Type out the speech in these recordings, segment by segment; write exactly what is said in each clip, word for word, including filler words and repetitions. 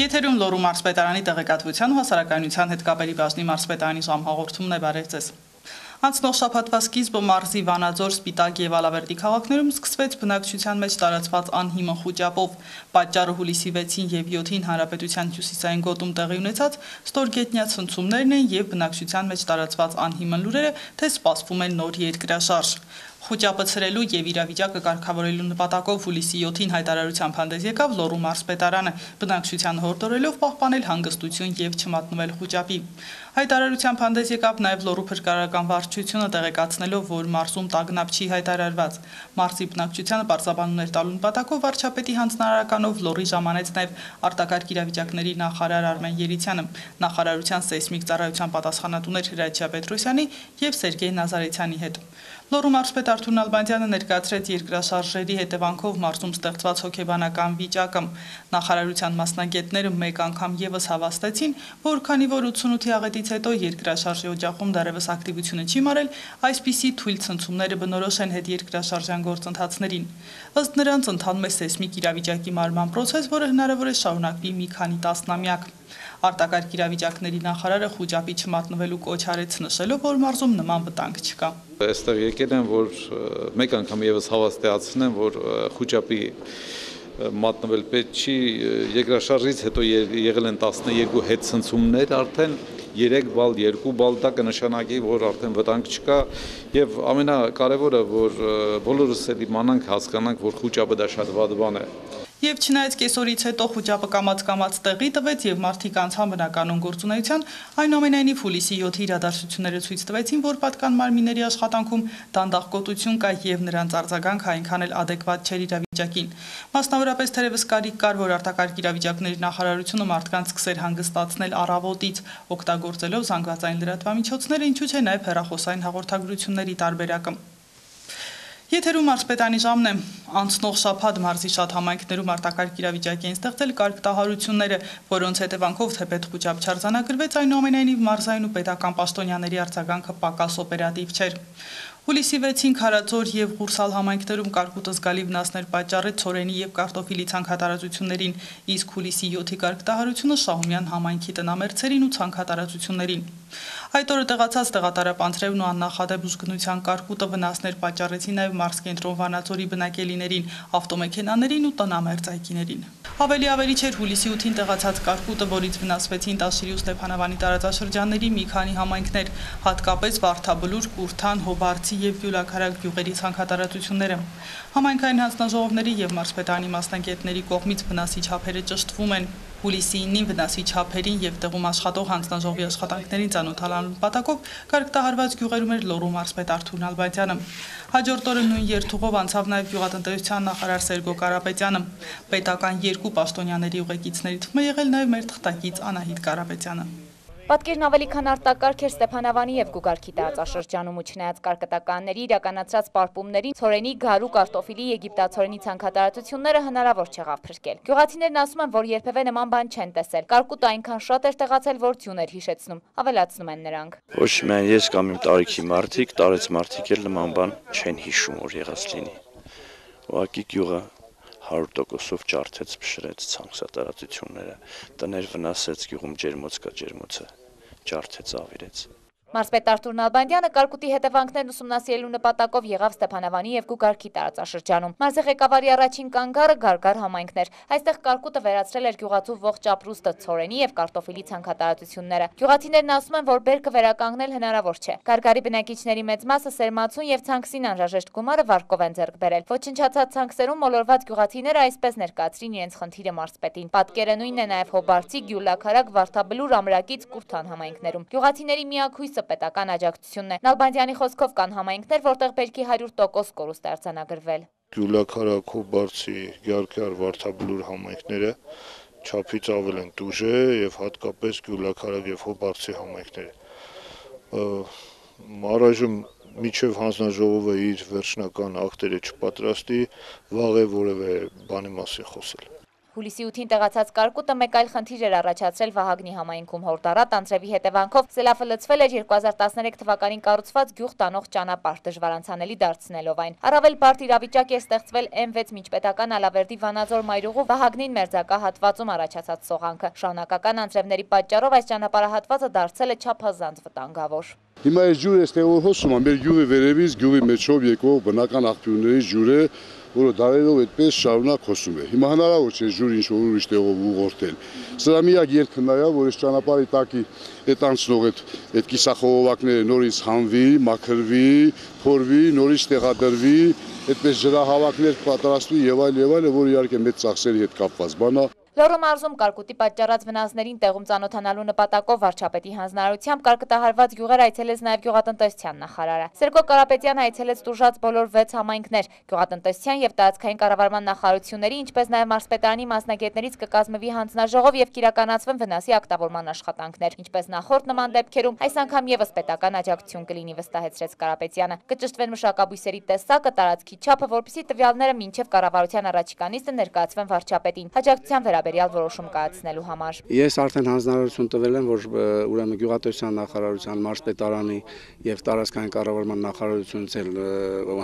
Եթերում Լոռու մարզպետարանի տեղեկատվության ու հասարակայնության հետ կապերի բաժնի մարզպետարանի ժամհաղորդումն է, բարև ձեզ։ Անցնող շաբաթվա սկիզբը մարզի Վանաձոր, Սպիտակ և Ալավերդի քաղաքներում սկսվեց բնակչության մեջ տարածված անհիմն խուճապով։ Պատճառը հուլիսի վեցին և յոթին հանրապետության հյուսիսային գոտում տեղի ունեցած ստորգետնյա ցնցումներն են և բնակչության մեջ տարածված անհիմն լուրերը, թե սպասվում է նոր երկրաշարժ։ Խուճապը ցրելու և իրավիճակը կարգավորելու նպատակով հուլիսի յոթին հայտարարությամբ հանդես եկավ Լոռու մարզպետարանը, բնակչությանը հորդորելով պահպանել հանգստություն և չմատնվել խուճապի։ Հայտարարությամբ հանդես եկավ նաև Լոռու փրկարարական վարչությունը, տեղեկացնելով, որ մարզում տագնապ չի հայտարարված։ Մարզի բնակչությանը պարզաբանումներ տալու նպատակով վարչապետի հանձնարարականով Լոռի ժամանեց նաև արտակարգ իրավիճակների նախարար Արմեն Երիցյանը, նախարարության սեյսմիկ ծառայության պատասխանատուներ Հրաչյա Պետրոսյանի և Սերգեյ Նազարեթյանի հետ։ Լոռու մարզպետ Արթուր Նալբանդյանը ներկայացրեց երկրաշարժերի հետևանքով մարզում ստեղծված հոգեբանական վիճակը։ Նախարարության մասնագետները մեկ անգամ ևս հավաստեցին, որ քանի որ ութսունութի աղետից հետո երկրաշարժի օջախում դեռևս ակտիվությունը չի մարել, այսպիսի թույլ ցնցումները բնորոշ են հետերկրաշարժյան գործընթացներին։ Ըստ նրանց ընթանում է սեյսմիկ իրավիճակի մարման պրոցես, որը հնարավոր է շարունակվի մի քանի տասնամյակ։ Արտակարգ իրավիճակների նախարարը խուճապի չմատնվելու կոչ արեց, նշելով, որ մարզում նման վտանգ չկա։ Այստեղ եկել են, որ մեկ անգամ ևս հավաստիացնեմ, որ խուճապի մատնվել պետք չի, երկրաշարժից հետո եղել են տասնյոթ հետցնցումներ, արդեն երեք բալ, երկու բալ, դա կնշանակի, որ արդեն վտանգ չկա, եւ ամենակարևորը, որ բոլորս էլ իմանանք, հասկանանք, որ խուճապը դա շատ վատ բան է։ Եվ չնայած կեսօրից հետո խուճապը կամաց-կամաց տեղի տվեց և մարդիկ անցան բնականոն գործունեության, այնուամենայնիվ հուլիսի յոթի իրադարձությունները ցույց տվեցին, որ պատկան մարմինների աշխատանքում դանդաղկոտություն կա և նրանց արձագանքը այնքան էլ ադեկվատ չէր իրավիճակին։ Մասնավորապես թերևս կարիք կար, որ արտակարգ իրավիճակների նախարարությունը մարդկանց սկսեր հանգստացնել առավոտից, օգտագործելով զանգվածային լրատվամիջոցները, ինչու չէ նաև հեռախոսային հաղորդագրությունների տարբերակը։ Եթերում մարզպետարանի ժամն է։ Անցնող շաբաթ մարզի շատ համայնքներում արտակարգ իրավիճակ էին ստեղծել կարգտահարությունները, որոնց հետևանքով թեպետ խուճապ չարձանագրվեց, այնուամենայնիվ մարզային ու պետական պաշտոնյաների արձագանքը պակաս օպերատիվ չէր։ Հուլիսի վեցին Քարաձոր և Ղուրսալ համայնքներում կարկուտը զգալի վնասներ պատճառեց ցորենի և կարտոֆիլի ցանքատարածություններին, իսկ հուլիսի յոթի կարգտահարությունը Շահումյան համայնքի տնամերձերին ու ցանքատարածություններին։ Այդ օրը տեղացած տեղատարապանցրևն ու աննախադեպ ուժգնության կարկուտը վնասներ պատճառեցին նաև մարզկենտրոն Վանաձորի բնակելիներին, ավտոմեքենաներին ու տնամերձ այգիներին։ Ավելի ավերիչ էր հուլիսի ութին տեղացած կարկուտը, որից վնասվեցին Տաշիրի ու Ստեփանավանի տարածաշրջանների մի քանի համայնքներ, հատկապես Վարդաբլուր, Կուրթան, Հոբարցի և Գյուլաքարակ գյուղերի ցանքատարածությունները։ Համայնքային հանձնաժողովների և մարզպետարանի մասնագետների կողմից վնասի չափերը ճշտվում են։ Հուլիսի ինին վնասի չափերին և տեղում աշխատող հանձնաժողովի աշխատանքներին ծանոթանալու նպատակով կարգտահարված գյուղերում էր Լոռու մարզպետ Արթուր Նալբանդյանը։ Հաջորդ օրը նույն երթուղով անցավ նաև գյուղատնտեսության նախարար Սերգո Կարապետյանը։ Պետական երկու պաշտոնյաների ուղեկիցների թվում է եղել նաև մեր թղթակից Անահիտ Կարապետյանը։ Պատկերն ավելի քան արտակարգ էր Ստեփանավանի և Գուգարքի տարածաշրջանում ու չնայած կարկտականների իրականացրած պարպումներին ցորենի, գարու, կարտոֆիլի, եգիպտացորենի ցանքատարածությունները հնարավոր չեղավ փրկել։ Գյուղացիներն ասում են, որ երբևէ նման բան չեն տեսել։ Կարկուտը այնքան շատ էր տեղացել, որ ձյուն էր հիշեցնում, ավելացնում են նրանք։ Ոչ միայն ես կամ իմ տարիքի մարդիկ, տարեց մարդիկ էլ նման բան չեն հիշում, որ եղած լինի։ Ուղղակի գյուղը հարյուր տոկոսով ջարդեց, փշրեց ցանքատարածությունները, տներ վնասեց, գյուղում ջերմոց կա, ջերմոցը ջարդեց, ավիրեց։ Մարզպետ Արթուր Նալբանդյանը կարկուտի հետևանքներն ուսումնասիրելու նպատակով եղավ Ստեփանավանի և Գուգարքի տարածաշրջանում։ Մարզի ղեկավարի առաջին կանգառը Գարգար համայնքն էր։ Այստեղ կարկուտը վերացրել էր գյուղացու ողջ ապրուստը, ցորենի և կարտոֆիլի ցանքատարածությունները։ Գյուղացիներն ասում են, որ բերքը վերականգնել հնարավոր չէ։ Գարգարի բնակիչների մեծ մասը սերմացուն և ցանքսին անհրաժեշտ գումարը վարկով են ձեռք բերել։ Ոչնչացած ցանքսերում մոլորված գյուղացիները այսպես ներկայացրին իրենց խնդիրը մարզպետին։ Պատկերը նույնն է նաև Հոբարցի, Գյուլաքարակ, Վարդաբլուր, Ամրակից, Կուրթան համայնքներում։ Գյուղացիների միակ պետական աջակցությունն է։ Նալբանդյանի խոսքով կան համայնքներ, որտեղ բերքի հարյուր տոկոս կորուստ է արձանագրվել։ Գյուլաքարակ, Հոբարցի, Գյարքար, Վարդաբլուր համայնքները չափից ավել են տուժե եւ հատկապես Գյուլաքարակ եւ Հոբարցի համայնքները։ Առայժմ միջև հանձնաժողովը իր վերջնական ակտերը չպատրաստի, վաղ է որևէ բանի մասին խոսել։ Հուլիսի ութին տեղացած կարկուտը մեկ այլ խնդիր էր առաջացրել Վահագնի համայնքում հորդառատ անձրևի հետևանքով սելավը լցվել էր երկու հազար տասներեք թվականին կառուցված գյուղ տանող ճանապարհ, դժվարանցանելի դարձնելով այն։ Առավել բարդ իրավիճակ է ստեղծվել էմ վեց միջպետական Ալավերդի Վանաձոր մայրուղու Վահագնին մերձակա հատվածում առաջացած սողանքը։ Շարունակական անձրևների պատճառով այս ճանապարհահատվածը դարձել է չափազանց վտանգավոր։ Հիմա այս ջուրը այստեղ որ հոսում է, մեր գյուղի վերևից, գյուղի մեջով եկող բնական աղբյուրներից ջուր է, որը դարերով այդպես շարունակ հոսում է։ Հիմա հնարավոր չէ ջուրը ինչ-որ ուրիշ տեղով ուղղորդել։ Սրա միակ ելքը նա է, որ այս ճանապարհի տակի այդ անցնող այդ այդ կիսախողովակները նորից հանվի, մաքրվի, փորվի, նորից տեղադրվի, այդպես ջրահավաքներ պատրաստվի եւ այլ եւ այլը, որ իհարկե մեծ ծախսերի հետ կապված բան է։ Լոռու մարզում կարկուտի պատճառած վնասներին տեղում ծանոթանալու նպատակով վարչապետի հանձնարարությամբ կարկտահարված գյուղեր այցելեց նաև գյուղատնտեսության նախարարը։ Սերգո Կարապետյանը այցելեց տուժած բոլոր վեց համայնքներ։ Գյուղատնտեսության եւ տարածքային կառավարման նախարարությունների, ինչպես նաև մարզպետարանի մասնագետներից կկազմվի հանձնաժողով եւ կիրականացվեն վնասի ակտավորման աշխատանքներ։ Ինչպես նախորդ նման դեպքերում, այս անգամ եւս պետական աջակցություն կլինի, վստահեցրեց Կարապետյանը։ Կճշտվեն մշակաբույսերի տեսակը, տարածքի չափը, որպեսզի տվյալները մինչև կառավարության առաջիկա նիստը ներկայացվեն վարչապետին։ Աջակցության վերաբերյալ որոշում կայացնելու համար։ Ես արդեն հանձնարարություն տվել եմ, որ ուրեմն գյուղատնտեսության նախարարության, մարզպետարանի եւ տարածքային կառավարման նախարարությունից էլ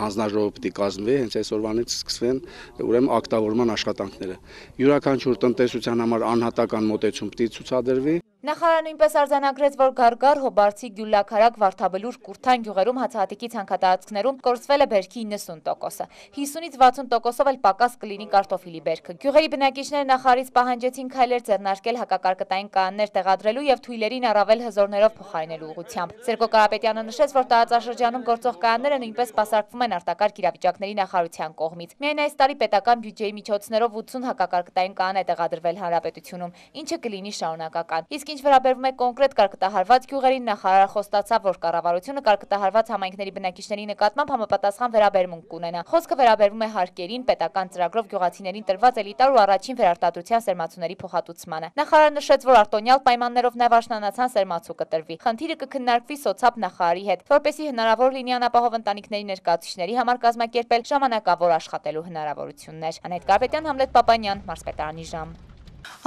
հանձնաժողով պիտի կազմվի, հենց այսօրվանից սկսվեն ուրեմն ակտավորման աշխատանքները։ Յուրաքանչյուր տնտեսության համար անհատական մոտեցում պիտի ցուցադրվի։ Նախարարը նույնպես արձանագրեց, որ Գարգար, Հոբարցի, Գյուլաքարակ, Վարդաբլուր, Կուրթան գյուղերում հացահատիկի ցանքատարածքներում կորցվել է բերքի իննսուն տոկոսը։ հիսունից վաթսուն տոկոսով էլ պակաս կլինի կարտոֆիլի բերքը։ Գյուղերի բնակիչները նախարարից պահանջեցին քայլեր ձեռնարկել հակակարկտային կանոններ տեղադրելու եւ թույլերին առավել հզորներով փոխարինելու ուղղությամբ։ Սերգո Կարապետյանը նշեց, որ տարածաշրջանում գործող կանոնները նույնպես սպասարկվում են արտակարգ իրավիճակների նախարարության կողմից։ Միայն այս տարի պետական բյուջեի միջոցներով ութսուն հակակարկտային կանոն է տեղադրվել հանրապետությունում, ինչը կլինի շարունակական։ Իսկ ինչ վերաբերվում է կոնկրետ կարկտահարված գյուղերին, նախարարը խոստացավ, որ կառավարությունը կարկտահարված համայնքների բնակիչների նկատմամբ համապատասխան վերաբերմունք կունենա։ Խոսքը վերաբերվում է հարկերին, պետական ծրագրով գյուղացիներին տրված էլիտար ու առաջին վերարտադրության սերմացուների փոխհատուցմանը։ Նախարարը նշեց, որ արտոնյալ պայմաններով նաև աշնանացան սերմացու կտրվի։ Խնդիրը կքննարկվի սոցապ նախարարի հետ, որպեսզի հնարավոր լինի անապահով ընտանիքների ներկայացուցիչների համար կազմակերպել ժամանակավոր աշխատելու հնարավորություններ։ Անետ Կարապետյան, Համլետ Պապանյան, Մարզպետարանի ժամ։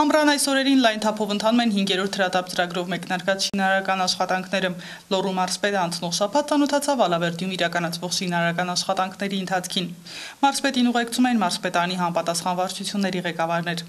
Ամռան այս օրերին լայն թափով ընթանում են հինգերորդ հրատապ ծրագրով մեկնարկած շինարարական աշխատանքները։ Լոռու մարզպետը անցնող շաբաթ ծանոթացավ Ալավերդիում իրականացվող շինարարական աշխատանքների ընթացքին։ Մարզպետին ուղեկցում էին մարզպետարանի համապատասխան վարչությունների ղեկավարներ։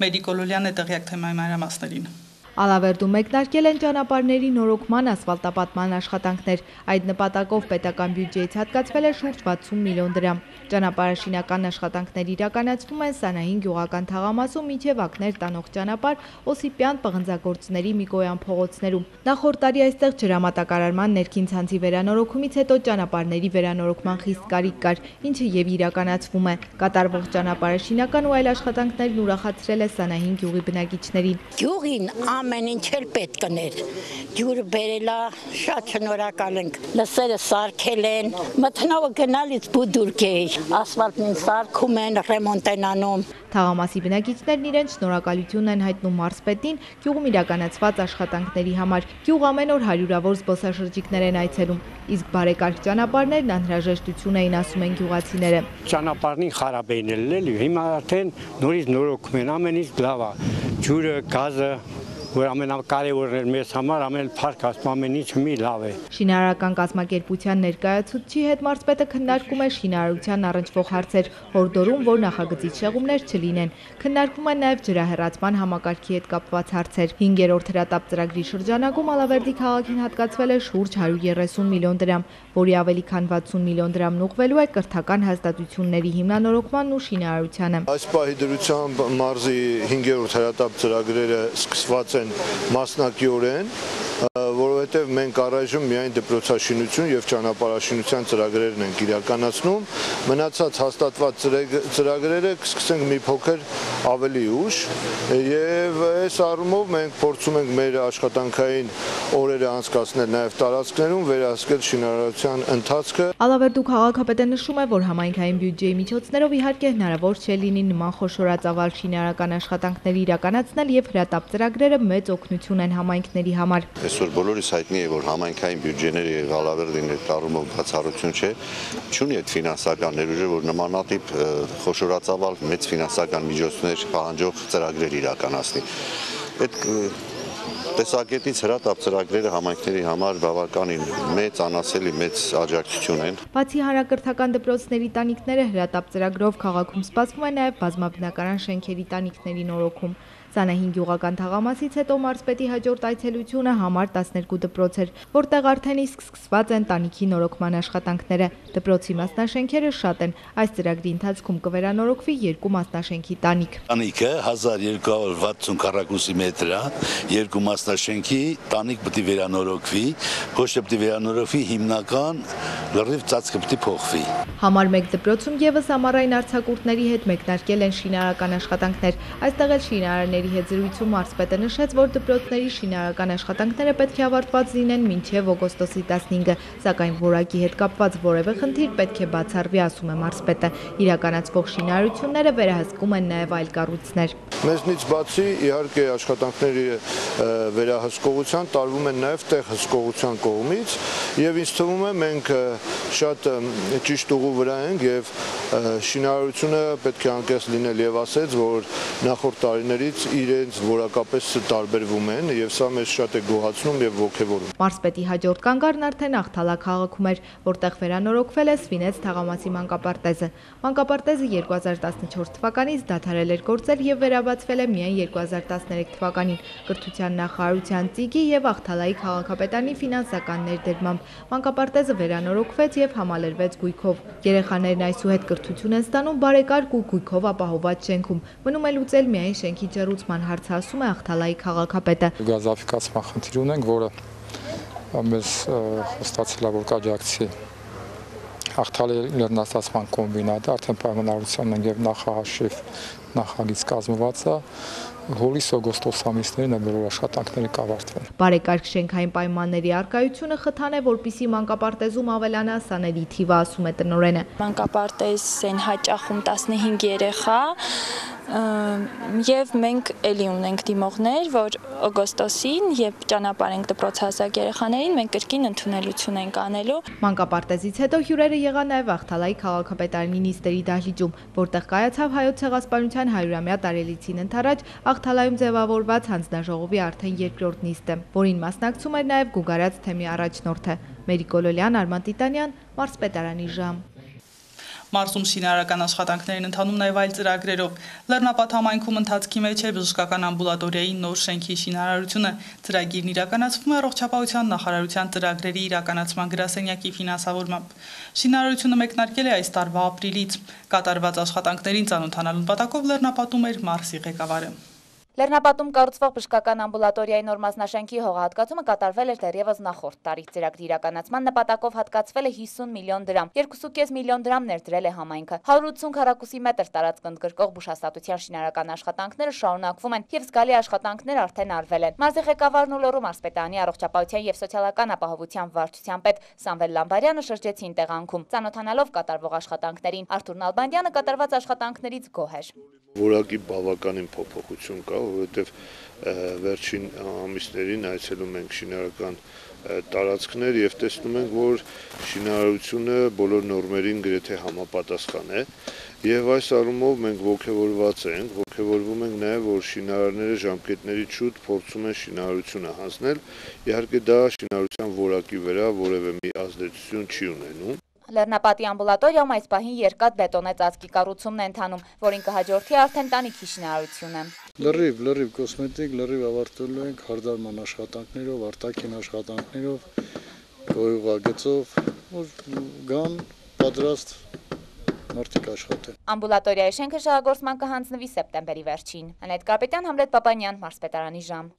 Մերի Կոլոլյանն է տեղյակ թեմայի մանրամասներին։ Ալավերդում մեկնարկել են ճանապարհների նորոգման, ասֆալտապատման աշխատանքներ։ Այդ նպատակով պետական բյուջեից հատկացվել է շուրջ վաթսուն միլիոն դրամ։ Ճանապարհաշինական աշխատանքներ իրականացվում են Սանահին գյուղական թաղամասում մինչև ակներ տանող ճանապարհ Օսիպյան պղնձագործների Միկոյան փողոցներում։ Նախորդ տարի այստեղ ջրամատակարարման ներքին ցանցի վերանորոգումից հետո ճանապարհների վերանորոգման խիստ կարիք կար, ինչը եւ իրականացվում է։ Կատարվող ճանապարհաշինական ու այլ աշխատանքներն ուրախացրել է Սանահին գյուղի բնակիչներին։ Գյուղին ամեն ինչ էլ պետք կներ։ Ջուրը բերելա, շատ շնորհակալ ենք։ Լսերը սարքել են, մթնողը գնալից բուդուրկ է, ասֆալտին սարքում են, ռեմոնտ են անում։ Թաղամասի բնակիչներն իրենց շնորհակալությունն են հայտնում մարզպետին գյուղում իրականացված աշխատանքների համար։ Գյուղ ամեն օր հարյուրավոր զբոսաշրջիկներ են այցելում, իսկ բարեկարգ ճանապարհներն անհրաժեշտություն էին, ասում են գյուղացիները։ Ճանապարհին խարաբ էին ելել, հիմա արդեն նորից նորոգում են, ամեն ինչ լավ է։ Ջուրը, գազը, որ ամենակարևորն էր մեզ համար, ամեն փառք ասում ամեն ինչ մի լավ է։ Շինարարական կազմակերպության ներկայացուցչի հետ մարզպետը քննարկում է շինարարության առնչվող հարցեր, հորդորում, որ նախագծից շեղումներ չլինեն։ Քննարկվում են նաև ջրահեռացման համակարգի հետ կապված հարցեր։ հինգերորդ հրատապ ծրագրի շրջանակում Ալավերդի քաղաքին հատկացվել է շուրջ հարյուր երեսուն միլիոն դրամ, որի ավելի քան վաթսուն միլիոն դրամն ուղղվելու է կրթական հաստատությունների հիմնանորոգմանն ու շինարարությանը։ Այս պահի դրությամբ մարզի հինգերորդ հրատապ ծրագրերը սկսված են մասնակիորեն, որովհետև մենք առայժմ միայն դպրոցաշինություն եւ ճանապարհաշինության ծրագրերն ենք իրականացնում, մնացած հաստատված ծրագրերը կսկսենք մի փոքր ավելի ուշ եւ այս առումով մենք փորձում ենք մեր աշխատանքային օրերը անցկացնել նաեւ տարածքներում, վերահսկել շինարարության ընթացքը։ Ալավերդու քաղաքապետը նշում է, որ համայնքային բյուջեի միջոցներով իհարկե հնարավոր չէ լինի նման խոշորածավալ շինարարական աշխատանքների իրականացնել եւ հրատապ ծրագրերը մեծ օգնություն են համայնքների համար։ Այսօր բոլորիս հայտնի է, որ համայնքային բյուջեները եւ Ալավերդին այդ առումով բացառություն չէ, չունի այդ ֆինանսական ներուժը, որ նմանատիպ խոշորածավալ մեծ ֆինանսական միջոցներ միջոցներ պահանջող ծրագրեր իրականացնի։ Այդ տեսակետից հրատապ ծրագրերը համայնքների համար բավականին մեծ, անասելի մեծ աջակցություն են։ Բացի հանրակրթական դպրոցների տանիքները հրատապ ծրագրով քաղաքում սպասվում է նաև բազմաբնակարան շենքերի տանիքների նորոգում։ Սանահին գյուղական թաղամասից հետո մարզպետի հաջորդ այցելությունը համար տասներկու դպրոց էր, որտեղ արդեն իսկ սկսված են տանիքի նորոգման աշխատանքները։ Դպրոցի մասնաշենքերը շատ են, այս ծրագրի ընթացքում կվերանորոգվի երկու մասնաշենքի տանիք։ Տանիքը հազար երկու հարյուր վաթսուն քառակուսի մետր է, երկու մասնաշենքի տանիք պետք է վերանորոգվի, ոչ թե պետք է վերանորոգվի հիմնական լրիվ ծածկը պետք է փոխվի։ Համար մեկ դպրոցում եւս ամառային արձակուրդների հետ մեկնարկել են շինարարական աշխատանքներ, այստեղ էլ շինարարների հետ զրույցում մարզպետը նշեց, որ դպրոցների շինարարական աշխատանքները պետք է ավարտված լինեն մինչև օգոստոսի տասնհինգը, սակայն որակի հետ կապված որևէ խնդիր պետք է բացառվի, ասում է մարզպետը։ Իրականացվող շինարարությունները վերահսկում են նաև այլ կառույցներ։ Մեզնից բացի իհարկե աշխատանքների վերահսկողության տարվում են նաև տեղ հսկողության կողմից եւ ինձ թվում է մենք շատ ճիշտ ուղու վրա ենք եւ շինարարությունը պետք է անկեղծ լինել եւ ասեց, որ նախորդ տարիներից իրենց որակապես տարբերվում են եւ սա մեզ շատ է գոհացնում եւ ողջևորում։ Մարզպետի հաջորդ կանգառն արդեն Աղթալա քաղաքում էր, որտեղ վերանորոգվել է Սվինեց թաղամասի մանկապարտեզը։ Մանկապարտեզը երկու հազար տասնչորս թվականից դադարել էր գործել եւ վերաբացվել է միայն երկու հազար տասներեք թվականին կրթության նախարարության ծիգի եւ Աղթալայի քաղաքապետարանի ֆինանսական ներդրմամբ։ Մանկապարտեզը վերանորոգվեց եւ համալրվեց գույքով։ Երեխաներն այսուհետ կրթություն են ստանում բարեկարգ ու գույքով ապահովված շենքում։ Մնում է լուծել միայն շենքի ջեռուցման հարցը, ասում է Աղթալայի քաղաքապետը։ Գազաֆիկացման խնդիր ունենք, որը մեզ խոստացել է, որ կաջակցի Աղթալի լեռնաստացման կոմբինատը, արդեն պայմանավորության են եւ նախահաշիվ նախագիծ կազմված է։ Հուլիս-օգոստոս ամիսներին են բոլոր աշխատանքները կավարտվեն։ Բարեկարգ շենքային պայմանների առկայությունը խթան է, որպեսզի մանկապարտեզում ավելանա սաների թիվը, ասում է տնօրենը։ Մանկապարտեզ են հաճախում տասնհինգ երեխա եւ մենք էլի ունենք դիմողներ, որ օգոստոսին, երբ ճանապարհենք դպրոցահասակ երեխաներին, մենք կրկին ընդունելություն ենք անելու։ Մանկապարտեզից հետո հյուրերը եղան նաև Աղթալայի քաղաքապետարանի նիստերի դահլիճում, որտեղ կայացավ հայոց ցեղասպանության հարյուրամյա տարելիցին ընդառաջ Աղթալայում ձևավորված հանձնաժողովի արդեն երկրորդ նիստը, որին մասնակցում էր նաև Գուգարաց թեմի առաջնորդը։ Մերիկ Գոլոլյան, Արման Տիտանյան, Մարզպետարանի ժամ։ Մարզում շինարարական աշխատանքներին ընթանում նաև այլ ծրագրերով։ Լեռնապատ համայնքում ընթացքի մեջ է բժշկական ամբուլատորիայի նոր շենքի շինարարությունը։ Ծրագիրն իրականացվում է առողջապահության նախարարության ծրագրերի իրականացման գրասենյակի ֆինանսավորմամբ։ Շինարարությունը մեկնարկել է այս տարվա ապրիլից։ Կատարված աշխատանքներին ծանոթանալու նպատակով Լեռնապատում էր մարզի ղեկավարը։ Լեռնապատում կառուցվող բժշկական ամբուլատորիայի նոր մասնաշենքի հողահատկացումը կատարվել էր դեռևս նախորդ տարի։ Ծրագրի իրականացման նպատակով հատկացվել է հիսուն միլիոն դրամ, երկու կես միլիոն դրամ ներդրել է համայնքը։ հարյուր ութսուն քառակուսի մետր տարածք ընդգրկող բուժհաստատության շինարարական աշխատանքները շարունակվում են եւ զգալի աշխատանքներ արդեն արվել են։ Մարզի ղեկավարն ու Լոռու մարզպետարանի առողջապահության եւ սոցիալական ապահովության վարչության պետ Սամվել Լամբարյանը շրջեցին տեղանքում, ծանոթանալով կատարվող աշխատանքներին։ Արթուր Նալբանդյանը կատարված աշխատանքներից գոհ էր։ Որակի բավականին փոփոխություն կա, որովհետև վերջին ամիսներին այցելում ենք շինարարական տարածքներ եւ տեսնում ենք, որ շինարարությունը բոլոր նորմերին գրեթե համապատասխան է եւ այս առումով մենք ողջավորված ենք, ողջավորվում ենք նաեւ, որ շինարարները ժամկետների շուտ փորձում են շինարարությունը հանձնել, իհարկե դա շինարարության որակի վրա որևէ մի ազդեցություն չի ունենում։ Լեռնապատի ամբուլատորիայում այս պահին երկաթ բետոնե ծածկի կառուցումն է ընթանում, որին կհաջորդի արդեն տանիքի շինարարությունը։ Լրիվ, լրիվ կոսմետիկ, լրիվ ավարտելու ենք հարդարման աշխատանքներով, արտաքին աշխատանքներով, գոյուղագծով, որ գան պատրաստ մարդիկ աշխատեն։ Ամբուլատորիայի շենքը շահագործման կհանձնվի սեպտեմբերի վերջին։ Անետ Կարպետյան, Համլետ Պապանյան, Մարզպետարանի ժամ։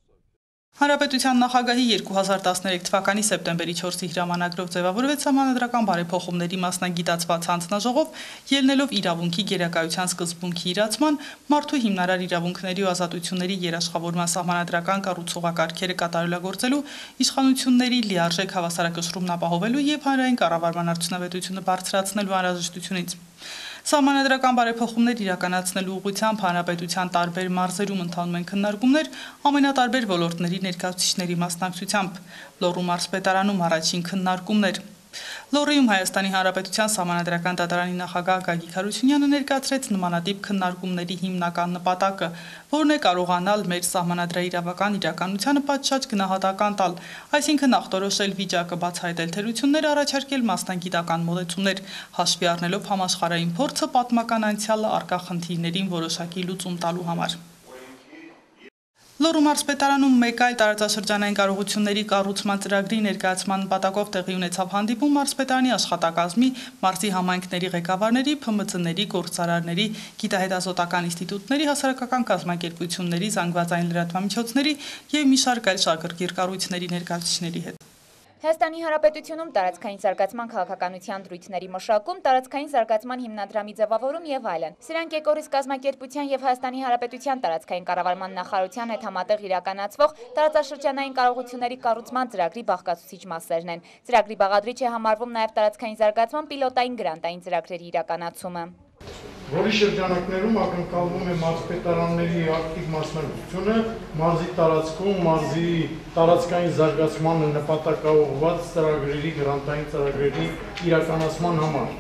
Հանրապետության նախագահի երկու հազար տասներեք թվականի սեպտեմբերի չորսի հրամանագրով ձևավորվեց սահմանադրական բարեփոխումների մասնագիտացված հանձնաժողով, ելնելով իրավունքի գերակայության սկզբունքի իրացման, մարդու հիմնարար իրավունքների ու ազատությունների երաշխավորման սահմանադրական կառուցողակարգերը կատարելագործելու, իշխանությունների լիարժեք հավասարակշռումն ապահովելու եւ հանրային կառավարման արդյունավետությունը բարձրացնելու անհրաժեշտությունից։ Սահմանադրական բարեփոխումներ իրականացնելու ուղղությամբ հանրապետության տարբեր մարզերում ընթանում են քննարկումներ ամենատարբեր ոլորտների ներկայացուցիչների մասնակցությամբ։ Լոռու մարզպետարանում առաջին քննարկումներ։ Լոռիում Հայաստանի Հանրապետության Սահմանադրական դատարանի նախագահ Գագիկ Հարությունյանը ներկայացրեց նմանատիպ քննարկումների հիմնական նպատակը, որն է կարողանալ մեր սահմանադրաիրավական իրականությանը պատշաճ գնահատական տալ, այսինքն ախտորոշել վիճակը, բացահայտել թերություններ, առաջարկել մասնագիտական մոտեցումներ, հաշվի առնելով համաշխարհային փորձը, պատմական անցյալը, առկա խնդիրներին որոշակի լուծում տալու համար։ Լոռու մարզպետարանում մեկ այլ տարածաշրջանային կարողությունների կառուցման ծրագրի ներկայացման նպատակով տեղի ունեցավ հանդիպում մարզպետարանի աշխատակազմի, մարզի համայնքների ղեկավարների, Փ M Ծ-ների, գործարարների, գիտահետազոտական ինստիտուտների, հասարակական կազմակերպությունների, զանգվածային լրատվամիջոցների և մի շարք այլ շահագրգիռ կառույցների ներկայացուցիչների հետ։ Հայաստանի Հանրապետությունում տարածքային զարգացման քաղաքականության դրույթների մշակում, տարածքային զարգացման հիմնադրամի ձևավորում եւ այլն։ Սրանք Էկորիս կազմակերպության եւ Հայաստանի Հանրապետության տարածքային կառավարման նախարարության հետ համատեղ իրականացվող տարածաշրջանային կարողությունների կառուցման ծրագրի բաղկացուցիչ մասերն են։ Ծրագրի բաղադրիչ է համարվում նաեւ տարածքային զարգացման պիլոտային գրանտային ծրագրերի իրականացումը։ Որի շրջանակներում ակնկալվում է մարզպետարանների ակտիվ մասնակցությունը մարզի տարածքում մարզի տարածքային զարգացմանը նպատակաուղղված ծրագրերի, գրանտային ծրագրերի իրականացման համար։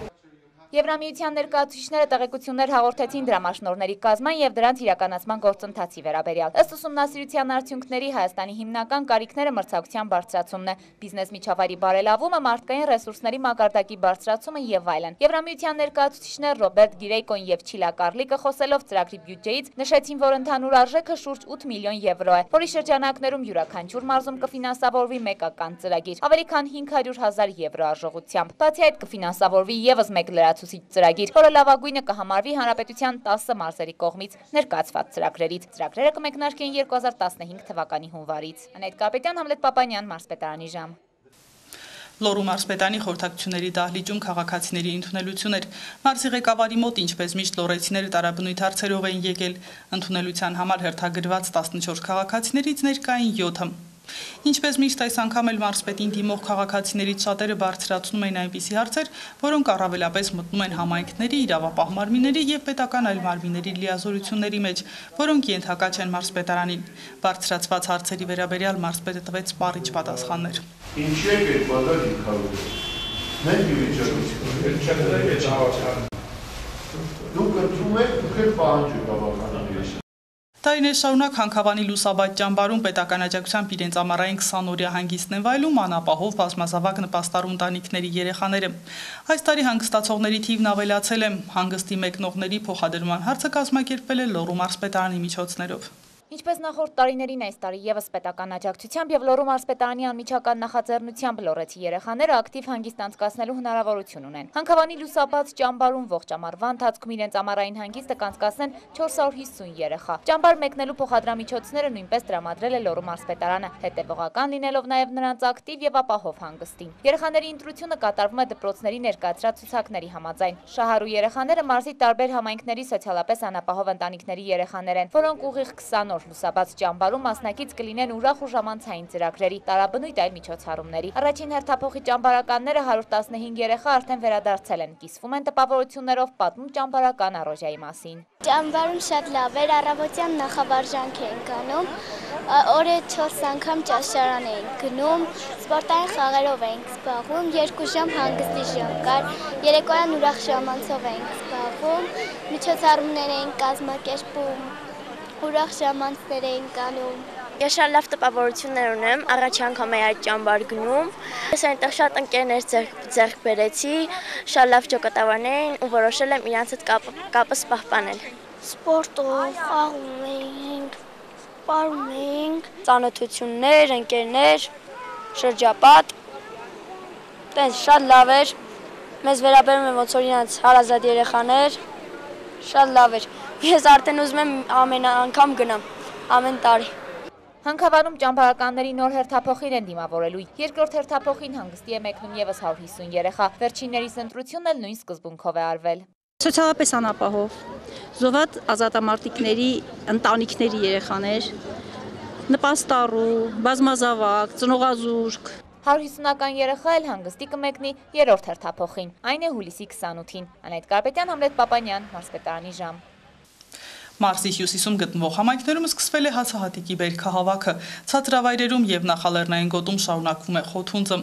Եվրամիության ներկայացուցիչները տեղեկություններ հաղորդեցին դրամաշնորհների կազման եւ դրանց իրականացման գործընթացի վերաբերյալ։ Ըստ ուսումնասիրության արդյունքների Հայաստանի հիմնական կարիքները մրցակցության բարձրացումն է, բիզնես միջավայրի բարելավումը, մարդկային ռեսուրսների մակարդակի բարձրացումը եւ այլն։ Եվրամիության ներկայացուցիչներ Ռոբերտ Գիրեյկոն եւ Չիլա Կարլիկը խոսելով ծրագրի բյուջեից նշեցին, որ ընդհանուր արժեքը շուրջ ութ միլիոն եվրո է, որի շրջանակներում յուրաքանչյուր մարզում կֆինանսավորվի մեկական ծրագիր, ավելի քան հինգ հարյուր հազար եվրո արժողությամբ։ Բացի այդ կֆինանսավորվի եւս մեկ լրացուցիչ ծրագիր, որը լավագույնը կհամարվի հանրապետության տասը մարզերի կողմից ներկայացված ծրագրերից։ Ծրագրերը կմեկնարկեն երկու հազար տասնհինգ թվականի հունվարից։ Անետ Կարպետյան, Համլետ Պապանյան, մարզպետարանի ժամ։ Լոռու մարզպետարանի խորհրդակցությունների դահլիճում քաղաքացիների ընդունելություն էր։ Մարզի ղեկավարի մոտ, ինչպես միշտ, լոռեցիները տարաբնույթ հարցերով էին եկել։ Ընդունելության համար հերթագրված տասնչորս քաղաքացիներից ներկային յոթը։ Ինչպես միշտ այս անգամ էլ մարզպետին դիմող քաղաքացիներից շատերը բարձրացնում էին այնպիսի հարցեր, որոնք առավելապես մտնում են համայնքների, իրավապահ մարմինների եւ պետական այլ մարմինների լիազորությունների մեջ, որոնք ենթակա չեն մարզպետարանին։ Բարձրացված հարցերի վերաբերյալ մարզպետը տվեց սպառիչ պատասխաններ։ Ինչի է այդ բادر ինքնավարում։ Մենք իվիճակում դուք ընդունում եք, դուք եք պահանջում գավականների։ Տարիներ շարունակ Հանքավանի Լուսաբաց ճամբարում պետական աջակցությամբ իրենց ամառային քսան-օրյա հանգիստն են վայելում անապահով բազմազավակ նպաստառու ընտանիքների երեխաները։ Այս տարի հանգստացողների թիվն ավելացել է, հանգստի մեկնողների փոխադրման հարցը կազմակերպվել է Լոռու մարզպետարանի միջոցներով։ Ինչպես նախորդ տարիներին այս տարի եւս պետական աջակցությամբ եւ Լոռու մարզպետարանի անմիջական նախաձեռնությամբ լոռեցի երեխաները ակտիվ հանգիստ անցկացնելու հնարավորություն ունեն։ Հանքավանի Լուսաբաց ճամբարում ողջ ամառվա ընթացքում իրենց ամառային հանգիստը կանցկացնեն չորս հարյուր հիսուն երեխա։ Ճամբար մեկնելու փոխադրամիջոցները նույնպես տրամադրել է Լոռու մարզպետարանը, հետևողական լինելով նաեւ նրանց ակտիվ եւ ապահով հանգստին։ Երեխաների ընտրությունը կատարվում է դպրոցների ներկայացրած ցուցակների համաձայն։ Շահառու երեխաները մարզի տարբեր համայնքների սոցիալապես անապահով ընտանիքների երեխաներ են, որոնք ուղիղ քսան օր Լուսաբաց ճամբարում մասնակից կլինեն ուրախ ու ժամանցային ծրագրերի, տարաբնույթ այլ միջոցառումների։ Առաջին հերթափոխի ճամբարականները հարյուր տասնհինգ երեխա արդեն վերադարձել են, կիսվում են տպավորություններով, պատմում ճամբարական առօժյայի մասին։ Ճամբարում շատ լավ էր, առավոտյան նախավարժանք էինք անում, օրը չորս անգամ ճաշարան էինք գնում, սպորտային խաղերով էինք զբաղվում, երկու ժամ հանգստի ժամ կար, երեկոյան ուրախ ժամանցով էինք զբաղվում, միջոցառումներ էինք կազմակերպում, ուրախ ժամանցներ էինք անում։ Ես շատ լավ տպավորություններ ունեմ, առաջ անգամ եմ այդ ճամբար գնում։ Ես այնտեղ շատ ընկերներ ձեռք բերեցի, շատ լավ ճակատավարներ էին ու որոշել եմ իրանց հետ կապս պահպանել։ Սպորտով խաղում էինք, պարում էինք, ծանոթություններ, ընկերներ, շրջապատ։ Տենց շատ լավ էր։ Մեզ վերաբերում են ոնց որ իրանց հարազատ երեխաներ, շատ լավ էր։ Ես արդեն ուզում եմ ամեն անգամ գնամ, ամեն տարի։ Հանքավանում ճամբարականների նոր հերթափոխին են դիմավորելու։ Երկրորդ հերթափոխին հանգստի է մեկնում եւս հարյուր հիսուն երեխա։ Վերջիններիս ընտրությունն էլ նույն սկզբունքով է արվել։ Սոցիալապես անապահով, զոհված ազատամարտիկների ընտանիքների երեխաներ, նպաստառու, բազմազավակ, ծնողազուրկ։ հարյուր հիսունական երեխա էլ հանգստի կմեկնի երրորդ հերթափոխին, այն է հուլիսի քսանութին։ Անետ Կարպետյան, Համլետ Պապանյան, մարզպետարանի ժամ։ Մարզի հյուսիսում գտնվող համայնքներում սկսվել է հացահատիկի բերքահավաքը, ցածրավայրերում եւ նախալեռնային գոտում շարունակվում է խոթունձը։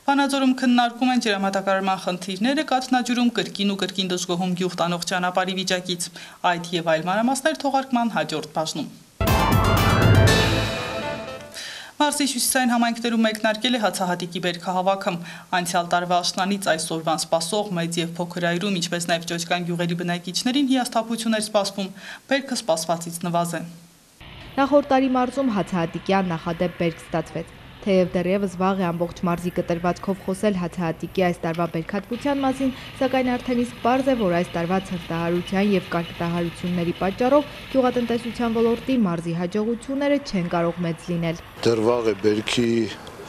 Վանաձորում քննարկում են ջրամատակարարման խնդիրները, Կաթնաջուրում կրկին ու կրկին դժգոհում գյուղ տանող ճանապարհի վիճակից, այդ եւ այլ մանրամասներ թողարկման հաջորդ բաժնում։ Մարզի հյուսիսային համայնքներում մեկնարկել է հացահատիկի բերքահավաքը, անցյալ տարվա աշնանից այսօրվան սպասող մեծ եւ փոքր այրում, ինչպես նաեւ ճոճկան գյուղերի բնակիչներին հիասթափություն էր սպասվում, բերքը սպասվածից նվազ է։ Նախորդ տարի մարզում հացահատիկյան նախադեպ բերք ստացվեց։ Թեև դեռևս վաղ է ամբողջ մարզի կտրվածքով խոսել հացահատիկի այս տարվա բերքատվության մասին, սակայն արդեն իսկ պարզ է, որ այս տարվա ցրտահարության եւ կարկտահարությունների պատճառով գյուղատնտեսության ոլորտի մարզի հաջողությունները չեն կարող մեծ լինել։ Դեռ վաղ է բերքի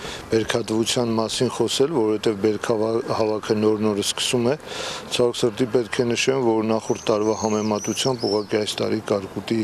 բերքատվության մասին խոսել, որովհետև բերքահավաքը նոր-նորը սկսում է։ Ցավոք սրտի պետք է նշեմ, որ նախորդ տարվա համեմատությամբ ուղղակի այս տարի կարկուտի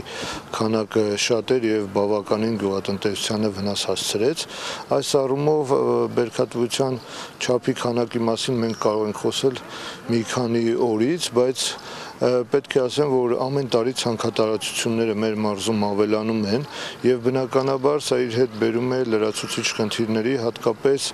քանակը շատ էր եւ բավականին գյուղատնտեսությանը վնաս հասցրեց։ Այս առումով բերքատվության չափի քանակի մասին մենք կարող ենք խոսել մի քանի օրից, բայց պետք է ասեմ, որ ամեն տարի ցանքատարածությունները մեր մարզում ավելանում են եւ բնականաբար սա իր հետ բերում է լրացուցիչ խնդիրների, հատկապես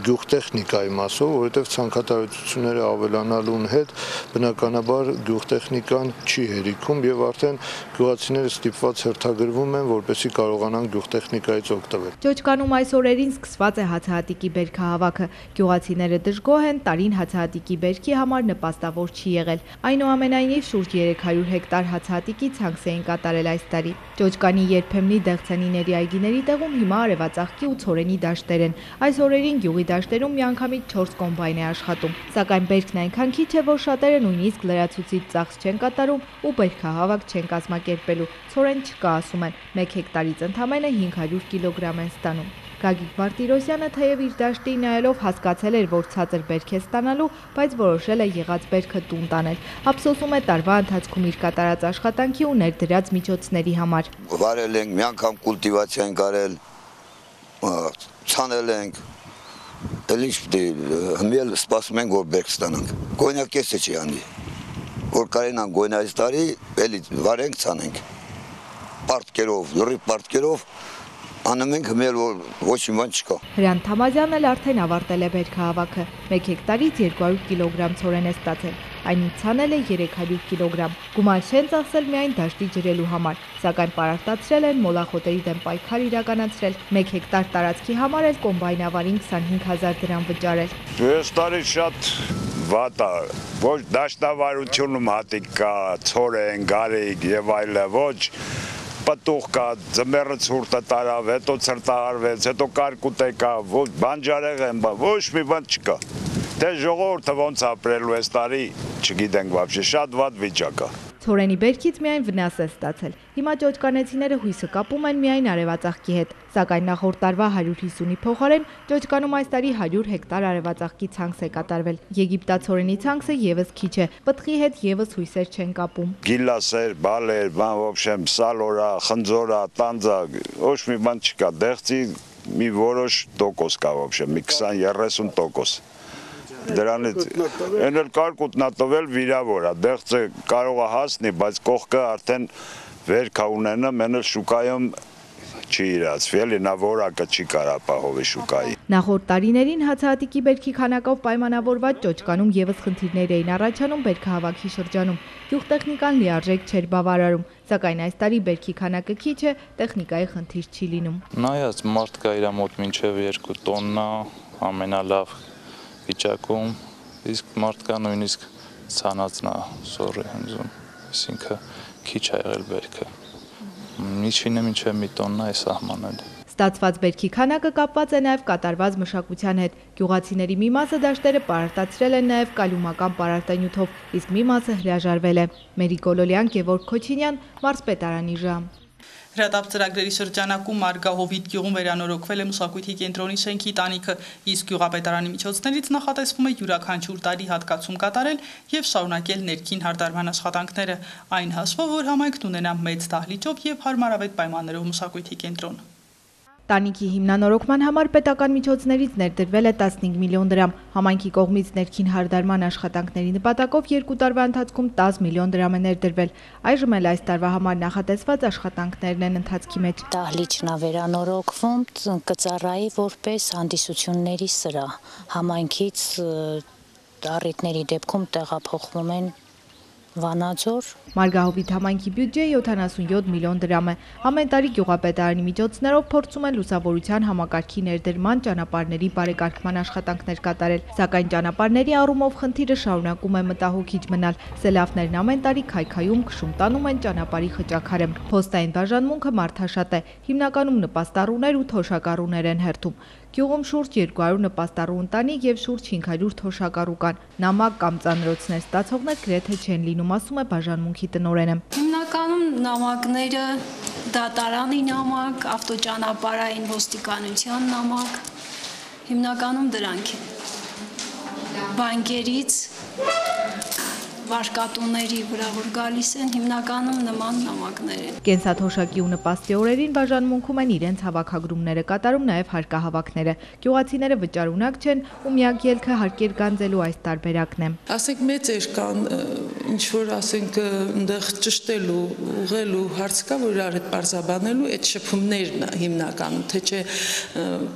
գյուղտեխնիկայի մասով, որովհետեւ ցանքատարածությունները ավելանալուն հետ բնականաբար գյուղտեխնիկան չի հերիքում եւ արդեն գյուղացիները ստիպված հերթագրվում են, որպեսզի կարողանան գյուղտեխնիկայից օգտվել։ Ճոճկանում այս օրերին սկսված է հացահատիկի բերքահավաքը։ Գյուղացիները դժգոհ են, տարին հացահատիկի բերքի համար նպաստավոր չի եղել։ Այնուամենայնիվ շուրջ երեք հարյուր հեկտար հացահատիկի ցանքս էին կատարել այս տարի։ Ճոճկանի երբեմնի դեղցանիների այգիների տեղում հիմա արևածաղկի ու ցորենի դաշտեր են։ Այս օրերին գյուղի դաշտերում միանգամից չորս կոմբայն է աշխատում։ Սակայն բերքն այնքան քիչ է, որ շատերը նույնիսկ լրացուցիչ ծախս չեն կատարում ու բերքահավաք չեն կազմակերպելու։ Ցորեն չկա, ասում են, մեկ հեկտարից ընդամենը հինգ հարյուր կիլոգրամ են ստանում։ Գագիկ Մարտիրոսյանը թեև իր դաշտի նայելով հասկացել էր, որ ցածր բերք է ստանալու, բայց որոշել է եղած բերքը տուն տանել։ Ափսոսում է տարվա ընթացքում իր կատարած աշխատանքի ու ներդրած միջոցների համար։ Վարել ենք, մի անգամ կուլտիվացիա ենք արել, ցանել ենք, էլ ինչ պետք է, հմիել սպասում ենք, որ բերք ստանանք։ Գոյնակեսը չի անի, որ կարենան գոյնա այս տարի, էլի վարենք, ցանենք։ Պարտքերով, լրիվ պարտքերով անում ենք հմել, որ ոչ մի բան չկա։ Հրանտ Թամազյանն էլ արդեն ավարտել է բերքահավաքը։ մեկ հեկտարից երկու հարյուր կիլոգրամ ցորեն է ստացել։ Այնից ցանել է երեք հարյուր կիլոգրամ։ Գումար չեն ծախսել միայն դաշտի ջրելու համար, սակայն պարարտացրել են մոլախոտերի դեմ պայքար իրականացրել։ մեկ հեկտար տարածքի համար էլ կոմբայնավարին քսանհինգ հազար դրամ վճարել։ Այս տարի շատ վատ է, ոչ դաշտավարությունում հատիկ կա, ցորեն, գարիկ եւ այլը, ոչ պտուղ կա, ձմեռը ցուրտը տարավ, հետո ցրտահարվեց, հետո կարկուտ կա, ոչ բանջարեղ են, ոչ մի բան չկա։ Դե ժողովուրդը ոնց ապրելու այս տարի, չգիտենք вообще, շատ վատ վիճակ է։ Ցորենի բերքից միայն վնաս է ստացել։ Հիմա ճոճկանեցիները հույսը կապում են միայն արևածաղկի հետ, սակայն նախորդ տարվա հարյուր հիսունի փոխարեն ճոճկանում այս տարի հարյուր հեկտար արևածաղկի ցանքս է կատարվել։ Եգիպտացորենի ցանքսը եւս քիչ է, պտղի հետ եւս հույսեր չեն կապում։ Գիլասեր, բալեր, բան вообще, սալորա, խնձորա, տանձա, ոչ մի բան չկա, դեղցի մի որոշ տոկոս կա вообще, մի քսան երեսուն տոկոս։ Դրանից այն էլ կարկուտն է տվել վիրավոր է, դեղցը կարող է հասնի, բայց կողքը արդեն վերք ունենա, մեն էլ շուկայում չի իրացվի, էլի նա որակը չի կարա ապահովի շուկայի։ Նախորդ տարիներին հացահատիկի բերքի քանակով պայմանավորված ճոճկանում եւս խնդիրներ էին առաջանում բերքահավաքի շրջանում։ Գյուղտեխնիկան լիարժեք չէր բավարարում, սակայն այս տարի բերքի քանակը քիչ է, տեխնիկայի խնդիր չի լինում։ Նայած մարդ կա իր մոտ մինչև երկու տոննա, ամենալավ վիճակում, իսկ մարդկա նույնիսկ ցանածնա սորի հնձում, այսինքն քիչ է եղել բերքը։ Միջինը մինչև մի տոննա է սահմանել։ Ստացված բերքի քանակը կապված է նաև կատարված մշակության հետ։ Գյուղացիների մի մասը դաշտերը պարարտացրել են նաև կալյումական պարարտանյութով, իսկ մի մասը հրաժարվել է։ Մերի Գոլոլյան, Գևորգ Քոչինյան, Մարզպետարանի ժամ։ Հրատապ ծրագրերի շրջանակում Մարգահովիտ գյուղում վերանորոգվել է մշակույթի կենտրոնի շենքի տանիքը, իսկ գյուղապետարանի միջոցներից նախատեսվում է յուրաքանչյուր տարի հատկացում կատարել եւ շարունակել ներքին հարդարման աշխատանքները, այն հաշվով, որ համայնքն ունենա մեծ դահլիճով եւ հարմարավետ պայմաններով մշակույթի կենտրոն։ Տանիքի հիմնանորոգման համար պետական միջոցներից ներդրվել է տասնհինգ միլիոն դրամ, համայնքի կողմից ներքին հարդարման աշխատանքների նպատակով երկու տարվա ընթացքում տաս միլիոն դրամ է ներդրվել։ Այժմ էլ այս տարվա համար նախատեսված աշխատանքներն են ընթացքի մեջ։ Դահլիճն է վերանորոգվում, կծառայի որպես հանդիսությունների սրահ, համայնքից առիթների դեպքում տեղափոխվում են Վանաձոր։ Մարգահովիտ համայնքի բյուջեը յոթանասունյոթ միլիոն դրամ է։ Ամեն տարի գյուղապետարանի միջոցներով փորձում են լուսավորության համակարգի ներդրման, ճանապարհների բարեկարգման աշխատանքներ կատարել, սակայն ճանապարհների առումով խնդիրը շարունակում է մտահոգիչ մնալ։ Սելավներն ամեն տարի քայքայում, քշում տանում են ճանապարհի խճաքարը։ Փոստային բաժանմունքը մարդաշատ է, հիմնականում նպաստառուներ ու թոշակառուներ են հերթում։ Գյուղում շուրջ երկու հարյուր նպաստառու ընտանիք եւ շուրջ հինգ հարյուր թոշակառու կան։ Նամակ կամ ծանրոցներ ստացողներ գրեթե չեն լինում, ասում է բաժանմունքի տնօրենը։ Հիմնականում նամակները դատարանի նամակ, ավտոճանապարհային ոստիկանության նամակ, հիմնականում դրանք են։ Բանկերից, վարկատուների վրա որ գալիս են, հիմնականում նման նամակներ են։ Կենսաթոշակի ու նպաստի օրերին բաժանմունքում են իրենց հավաքագրումները կատարում նաև հարկահավաքները։ Գյուղացիները վճարունակ չեն ու միակ ելքը հարկեր գանձելու այս տարբերակն է։ Ասենք մեծեր կան, ինչ որ ասենք այնտեղ ճշտելու, ուղղելու հարց կա, որ իրար հետ բարձաբանելու այդ շփումներն է հիմնականում, թե չէ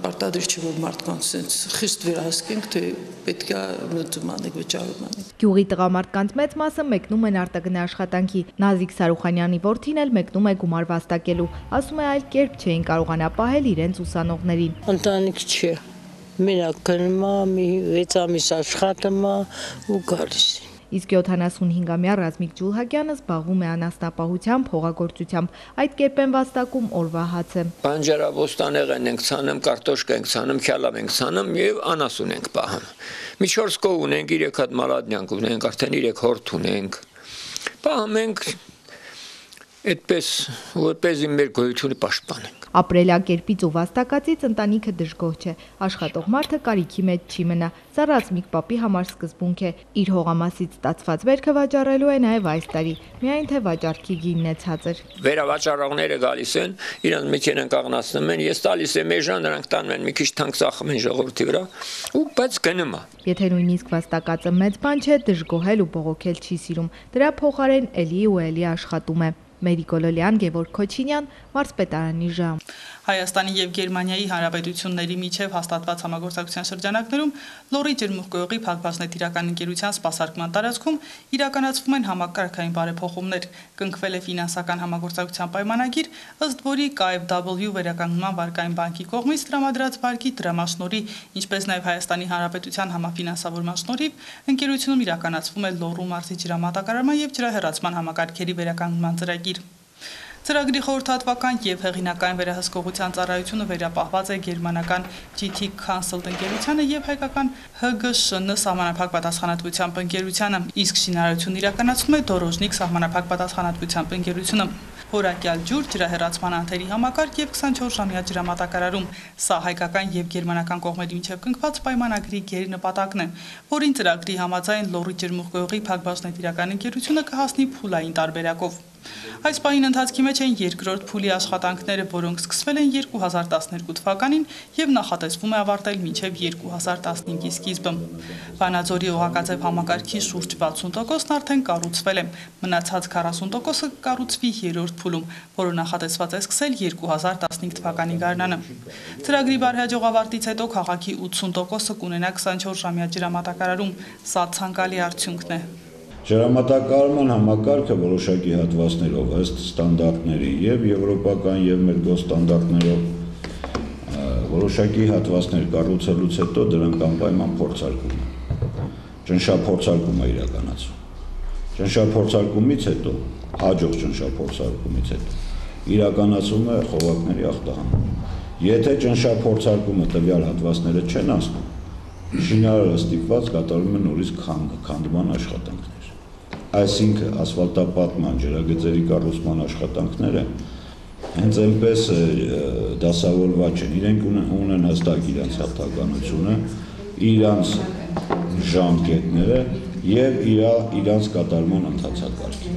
պարտադիր չէ որ մարդկանց խիստ վերահսկենք, թե պետք է մտում անենք, վճարում անենք։ Գյուղի տղամարդկանց մեծ մասը մեկնում են արտագնա աշխատանքի։ Նազիկ Սարուխանյանի որդին էլ մեկնում է գումար վաստակելու, ասում է այլ կերպ չէին կարողանա պահել իրենց ուսանողներին։ Ընտանիք չէ, մենակ գնում է, մի վեց ամիս աշխատում է ու գալիս է։ Իսկ յոթանասունհինգամյա Ռազմիկ Ջուլհակյանը զբաղվում է անասնապահությամբ, հողագործությամբ, այդ կերպ են վաստակում օրվա հացը։ Բանջարաբոստանեղեն ենք ցանում, կարտոշկա ենք ցանում, քյալավ ենք ցանում եւ անասուն ենք պահում։ Մի չորս կով ունենք, երեք հատ մալադնյանք ունենք, արդեն երեք հորթ ունենք։ Պահում ենք այդպես, որպեսզի մեր գոյությունը պաշտպանենք։ Ապրելակերպից ու վաստակածից ընտանիքը դժգոհ չէ, աշխատող մարդը կարիքի մեջ չի մնա, սա Ռազմիկ պապի համար սկզբունք է, իր հողամասից ստացված վերքը վաճառելու է նաև այս տարի, միայն թե վաճառքի գինն է ցածր։ Վերավաճառողները գալիս են, իրանց մեքենան կաղնացնում են, ես տալիս եմ էժան, նրանք տանում են մի քիչ թանկ ծախում են ժողովրդի վրա, ու բայց գնում է։ Եթե նույնիսկ վաստակածը մեծ բան չէ, դժգոհել ու բողոքել չի սիրում, դրա փոխարեն էլի ու էլի աշխատում է։ Մերի Գոլոլյան, Գևորգ Քոչինյան, Մարզպետարանի ժամ։ Հայաստանի եւ Գերմանիայի հանրապետությունների միջև հաստատված համագործակցության շրջանակներում Լոռի ջերմուղգյուղի Փակbaşնեթիրական ընկերության սպասարկման տարածքում իրականացվում են համակարգային բարեփոխումներ, կնքվել է ֆինանսական համագործակցության պայմանագիր, ըստ որի K F W վերականգնման վարկային բանկի կողմից տրամադրած վարկի տրամաշնորհի, ինչպես նաեւ Հայաստանի Հանրապետության համաֆինանսավորման շնորհիվ ընկերությունում իրականացվում է Լոռու մարզի ջրամատակարարման եւ ջրահեռացման համակարգերի վերականգնման ծրագիր։ Ծրագրի խորհրդատվական եւ հեղինակային վերահսկողության ծառայությունը վերապահված է գերմանական G T Consult ընկերությանը եւ հայկական H G Ş N սահմանափակ պատասխանատվությամբ ընկերությանը, իսկ շինարարությունն իրականացնում է Դորոժնիկ սահմանափակ պատասխանատվությամբ ընկերությունը։ Որակյալ ջուր, ջրահեռացման անթերի համակարգ եւ քսանչորս ժամյա ջրամատակարարում։ Սա հայկական եւ գերմանական կողմերի միջև կնքված պայմանագրի գերնպատակն է, որին ծրագրի համաձայն Լոռի ջերմուղգյուղի Փակbaşնեթիրական ընկերությունը կհասնի փուլային տարբերակով։ Այս պահին ընթացքի մեջ են երկրորդ փուլի աշխատանքները, որոնք սկսվել են երկու հազար տասներկու թվականին եւ նախատեսվում է ավարտել մինչեւ երկու հազար տասնհինգի սկիզբը։ Վանաձորի օղակաձև համակարգի շուրջ վաթսուն տոկոսն արդեն կառուցվել է, մնացած քառասուն տոկոսը կառուցվի երրորդ փուլում, որը նախատեսված է սկսել երկու հազար տասնհինգ թվականի գարնանը։ Ծրագրի բարեհաջող ավարտից հետո քաղաքի ութսուն տոկոսը կունենա քսանչորս ժամյա ջրամատակարարում, սա ցանկալի արդյունքն է։ Ջրամատակարարման համակարգը որոշակի հատվածներով ըստ ստանդարտների եւ եվրոպական եւ մեր գոստանդարտներով որոշակի հատվածներ կառուցելուց հետո դրանք անպայման փորձարկում են։ Ճնշափորձարկում է իրականացվում։ Ճնշափորձարկումից հետո, հաջող ճնշափորձարկումից հետո իրականացվում է խողովակների ախտահանումը։ Եթե ճնշափորձարկումը տվյալ հատվածները չեն անցնում, շինարարը ստիպված կատարում է նորից քանդման աշխատանքներ։ Այսինքն ասֆալտապատման, ջրագծերի կառուցման աշխատանքները հենց այնպես դասավորված չեն, իրենք ունեն հստակ իրենց հատականությունը, իրենց ժամկետները եւ իրենց կատարման ընթացակարգը։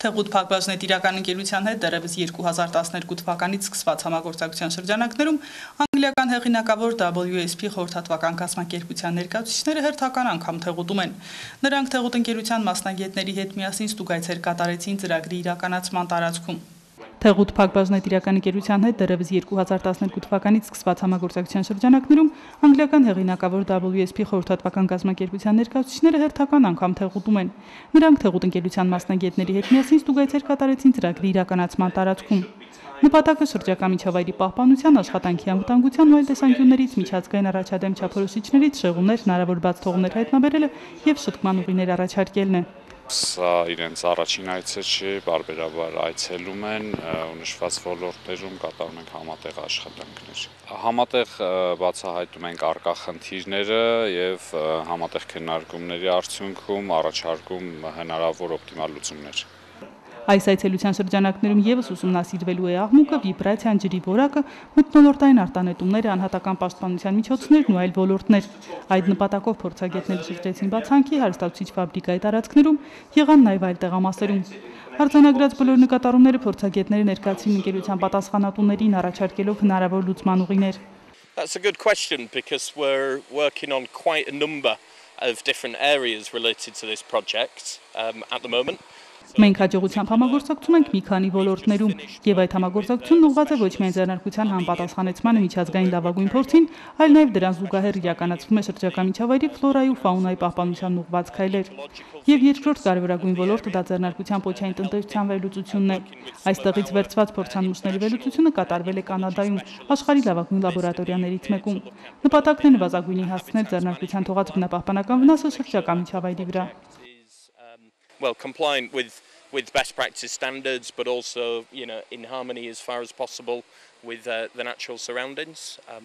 Թեղուտ Փակbaşնետիրական ընկերության հետ դեռևս երկու հազար տասներկու թվականից սկսված համագործակցության շրջանակներում անգլիական հեղինակավոր W S P խորհրդատվական կազմակերպության ներկայացուցիչները հերթական անգամ թեղուտում են։ Նրանք թեղուտ ընկերության մասնագետների հետ միասին ստուգայցեր կատարեցին ծրագրի իրականացման տարածքում։ Թեղուտ Փակbaşնետիրական ընկերության հետ դեռևս երկու հազար տասներկու թվականից սկսված համագործակցության շրջանակներում անգլիական հեղինակավոր W S P խորհրդատվական կազմակերպության ներկայացուցիչները հերթական անգամ թեղուտում են։ Նրանք թեղուտ ընկերության մասնագետների հետ միասին ստուգայցեր կատարեցին ծրագրի իրականացման տարածքում։ Նպատակը շրջակա միջավայրի պահպանության, աշխատանքի անվտանգության ու այլ տեսանկյուններից միջազգային առաջադեմ չափորոշիչներից շեղումներ, հնարավոր բաց թողումներ հայտնաբերելը եւ շտկման ուղիներ առաջարկելն է։ Սա իրենց առաջին այցը չի, բարբերաբար այցելում են ու նշված ոլորտներում կատարում ենք համատեղ աշխատանքներ։ Համատեղ բացահայտում ենք առկա խնդիրները եւ համատեղ քննարկումների արդյունքում առաջարկում հնարավոր օպտիմալ լուծումներ։ Այս այցելության շրջանակներում եւս ուսումնասիրվելու է աղմուկը, վիբրացիան, ջրի որակը, մթնոլորտային արտանետումները, անհատական պաշտպանության միջոցներն ու այլ ոլորտներ։ Այդ նպատակով փորձագետները շրջեցին բացանքի, հարստացուցիչ ֆաբրիկայի տարածքներում, եղան նաեւ այլ տեղամասերում։ Արձանագրած բոլոր նկատառումները փորձագետները ներկայացրին ընկերության պատասխանատուներին, առաջարկելով հնարավոր լուծման ուղիներ։ That's a good question because we're working on quite a number of different areas related to this project um, at the moment. Մենք հաջողությամբ համագործակցում ենք մի քանի ոլորտներում, եւ այդ համագործակցությունն ուղղված է ոչ միայն ձեռնարկության համապատասխանեցմանը միջազգային լավագույն փորձին, այլ նաեւ դրան զուգահեռ իրականացվում է շրջակա միջավայրի ֆլորայի ու ֆաունայի պահպանությանն ուղղված քայլեր։ Եվ երկրորդ կարևորագույն ոլորտը դա ձեռնարկության պոչային տնտեսության վերլուծությունն է։ Այստեղից վերցված փորձանմուշների վերլուծությունը կատարվել է Կանադայում, աշխարհի լավագույն լաբորատորիաներից մեկում։ Նպատակն է նվազագույնի հասցնել ձեռնարկության թողած բնապահպանական վնասը շրջակա միջավայրի վրա։ Well, compliant with with best practice standards, but also, you know, in harmony as far as possible with uh, the natural surroundings. Um...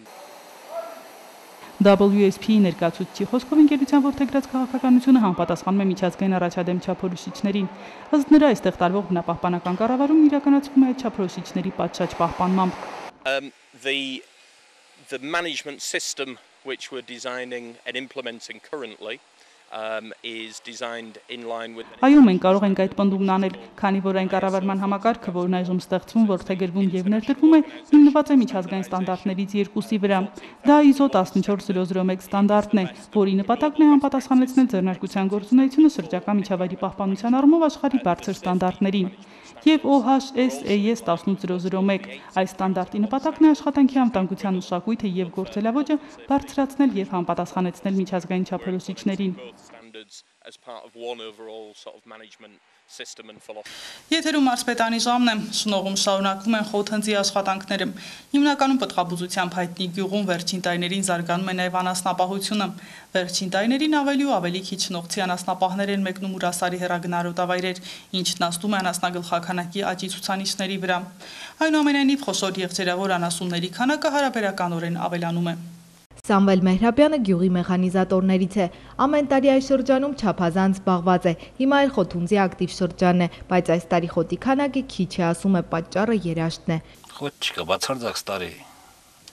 W S P ներկայացուցիչի խոսքով ընկերության ողջագրած քաղաքականությունը համապատասխանում է միջազգային առաջադեմ չափորոշիչներին։ Ըստ նրա, այստեղ տարվող բնապահպանական կառավարումն իրականացվում է այդ չափորոշիչների պատշաճ պահպանմամբ։ Um the the management system which we're designing and implementing currently Um, is designed in line with Այո, մենք կարող ենք այդ պնդումն անել, քանի որ այն կառավարման համակարգը, որն այժմ ստեղծվում, որդեգրվում եւ ներդրվում է, հիմնված է միջազգային ստանդարտներից երկուսի վրա։ Դա I S O one four zero zero one ստանդարտն է, որի նպատակն է համապատասխանեցնել ձեռնարկության գործունեությունը շրջակա միջավայրի պահպանության առումով աշխարհի բարձր ստանդարտներին։ Եվ O H S A S one eight zero zero one այս ստանդարտի նպատակն է աշխատանքի անվտանգության մշակույթը եւ գործելավոճը բարձրացնել եւ համապատասխանեցնել միջազգային չափորոշիչներին։ standards as part of one overall sort of management system and philosophy. Եթերում Մարսպետանի ժամն է, շնորհում շարունակվում են խոթհնձի աշխատանքները։ Հիմնականում պտղաբուծությամբ հայտնի գյուղում վերջին տարիներին զարգանում է նաև անասնապահությունը։ Վերջին տարիներին ավելի ու ավելի քիչ շնորհցի անասնապահներ են մեկնում Ուրասարի հեռագնարոտավայրեր, ինչն նստում է անասնագլխականակի աճի ցուցանիշների վրա։ Այնուամենայնիվ խոշոր եղջերավոր անասունների քանակը հարաբերականորեն ավելանում է։ Սամվել Մեհրաբյանը գյուղի մեխանիզատորներից է, ամեն տարի այս շրջանում չափազանց զբաղված է, հիմա էլ խոթունձի ակտիվ շրջանն է, բայց այս տարի խոտի քանակը քիչ է, ասում է պատճառը երաշտն է։ Խոտ չկա, բացարձակ տարի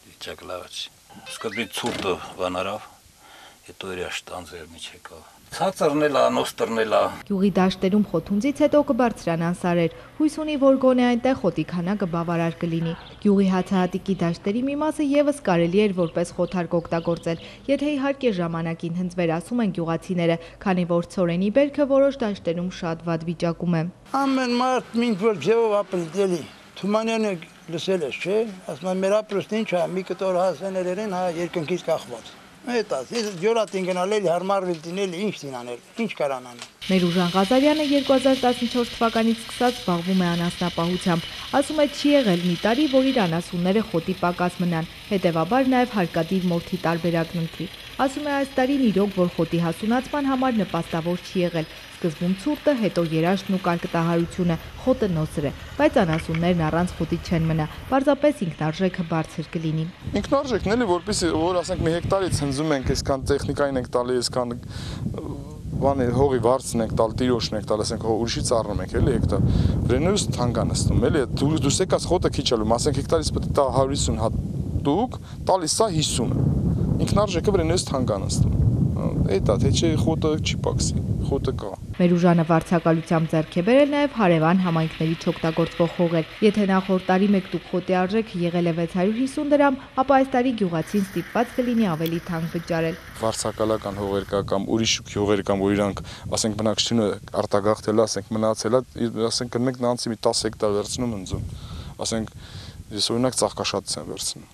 վիճակը լավ չի։ Սկզբից ցուրտը վանարավ, հետո երաշտ անձեր մեջ եկավ։ Ցածրն էլ, նոստրն էլ։ Գյուղի դաշտերում խոթունձից հետո կբարձրանան սարեր, հույս ունի, որ գոնե այնտեղ խոտի քանակը բավարար կլինի։ Գյուղի հացահատիկի դաշտերի մի մասը եւս կարելի էր որպես խոթարկ օգտագործել, եթե իհարկե ժամանակին հնձվեր, ասում են գյուղացիները, քանի որ ցորենի բերքը որոշ դաշտերում շատ վատ վիճակում է։ Ամեն մարդ ինչ որ ձևով ապրելի։ Թումանյանը լսել է, չէ՞, ասում է մեր ապրուստը ինչ է, մի կտոր հասեներերեն հա երկնքից կախված։ Այդ ասես ջորատին գնալել հարմարվել դինել ինչ դինանել ինչ կարան անել Մերուժան Ղազարյանը երկու հազար տասնչորս թվականից սկսած զբաղվում է անասնապահությամբ ասում է չի եղել մի տարի որ իր անասունները խոտի պակաս մնան հետևաբար նաև հարկադիր մորթի տարբերակն ընտրի ասում է այս տարին իրոք որ խոտի հասունացման համար նպաստավոր չի եղել սկզբում ցուրտը հետո երաշտն ու կարկտահարությունը խոտը նոսր է բայց անասուններն առանց խոտի չեն մնա պարզապես ինքնարժեքը բարձր կլինի ինքնարժեքն էլի որպեսզի որ ասենք մի հեկտարից հնձում ենք այսքան տեխնիկային ենք տալի այսքան բանը հողի վարձն ենք տալ տիրոշն ենք տալ ասենք ուրիշից առնում ենք էլի հեկտար վրենուս թանկան նստում էլի դուս եկած խոտը քիչ ալու ասենք հեկտարից պետք է տա հարյուր հիսուն հատուկ տալիս սա հիսուն ինքնարժեքը վրենուս թանկան նստում այդ է թե չէ խոտը չի պակսի խոտը կա։ Մերուժանը վարձակալությամբ ձեռք է բերել նաև հարևան համայնքների չօգտագործվող հողեր։ Եթե նախորդ տարի մեկ տուփ խոտի արժեքը եղել է վեց հարյուր հիսուն դրամ, ապա այս տարի գյուղացին ստիպված կլինի ավելի թանկ վճարել։ Վարձակալական հողեր կա կամ ուրիշ հողեր կան, որ իրանք, ասենք բնակչությունը արտագաղթել, ասենք մնացել է, ասենք մենք նրանցի մի տասը հեկտար վերցնում ընձում։ Ասենք ես օրինակ ծաղկաշատից եմ վերցնում։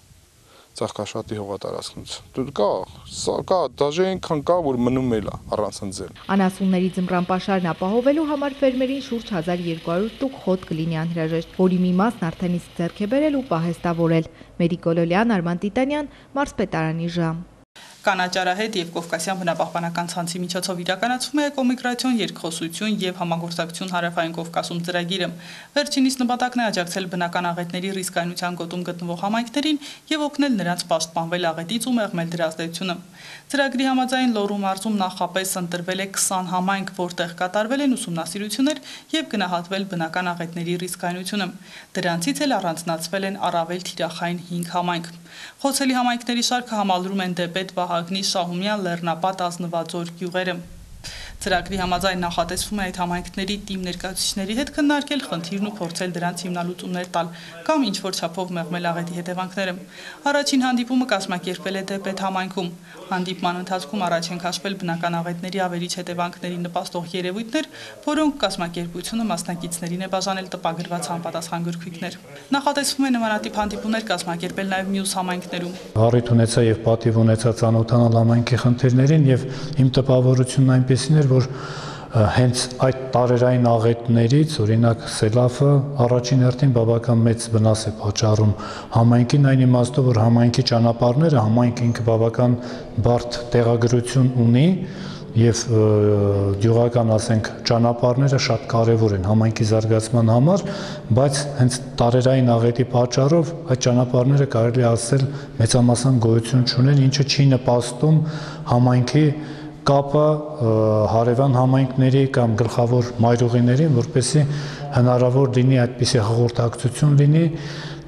Ծաղկաշատի հողատարածքից։ Կա, սա կա, դաժե այնքան կա, որ մնում էլ է առանց ընձել։ Անասունների ձմռան պաշարն ապահովելու համար ֆերմերին շուրջ հազար երկու հարյուր տուփ խոտ կլինի անհրաժեշտ, որի մի մասն արդեն իսկ ձեռք է բերել ու պահեստավորել։ Մերիկ Գոլոլյան, Արման Տիտանյան, Մարզպետարանի ժամ։ Կանաճարահետ և Կովկասյան բնապահպանական ցանցի միջոցով իրականացվում է էկոմիգրացիոն, երկխոսություն և համագործակցություն Հարավային Կովկասում ծրագիրը։ Վերջինիս նպատակն է աջակցել բնական աղետների ռիսկայնության գոտում գտնվող համայնքներին և օգնել նրանց պաշտպանվել աղետից ու մեղմել դրա ազդեցությունը։ Ծրագրի համաձայն Լոռու մարզում նախապես ընտրվել է քսան համայնք, որտեղ կատարվել են ուսումնասիրություններ և գնահատվել բնական աղետների ռիսկայնությունը։ Դրանցից էլ առանձնացվել են առավել թիրախային հինգ համայնք։ Խոցելի համայնքների շարքը համալրում են Դեպետ, Վահագնի, Շահումյան, Լեռնապատ, Ազնվաձոր գյուղերը։ Ծրագրի համաձայն նախատեսվում է այդ համայնքների թիմ ներկայացուցիչների հետ քննարկել խնդիրն ու փորձել դրանց հիմնալուծումներ տալ կամ ինչ-որ չափով մեղմել աղետի հետևանքները։ Առաջին հանդիպումը կազմակերպվել է Դեպետ համայնքում։ Հանդիպման ընթացքում առաջ են քաշվել բնական աղետների ավերիչ հետևանքներին նպաստող երևույթներ, որոնք կազմակերպությունը մասնակիցներին է բաժանել տպագրված համապատասխան գրքույկներ։ Նախատեսվում է նմանատիպ հանդիպումներ կազմակերպել նաև մյուս համայնքներում։ Առիթ ունեցա եւ պատիվ ունեցա ծանոթանալ համայնքի խնդիրներին եւ իմ տպավորությունն այնպեսին էր, որ հենց այդ տարերային աղետներից, օրինակ սելավը առաջին հերթին բավական մեծ վնաս է պատճառում համայնքին, այն իմաստով, որ համայնքի ճանապարհները, համայնքը ինքը բավական բարդ տեղագրություն ունի եւ գյուղական, ասենք, ճանապարհները շատ կարեւոր են համայնքի զարգացման համար, բայց հենց տարերային աղետի պատճառով այդ ճանապարհները կարելի է ասել մեծամասն գոյություն չունեն, ինչը չի նպաստում համայնքի կապը հարևան համայնքների կամ գլխավոր մայրուղիներին, որպեսզի հնարավոր լինի այդպիսի հաղորդակցություն լինի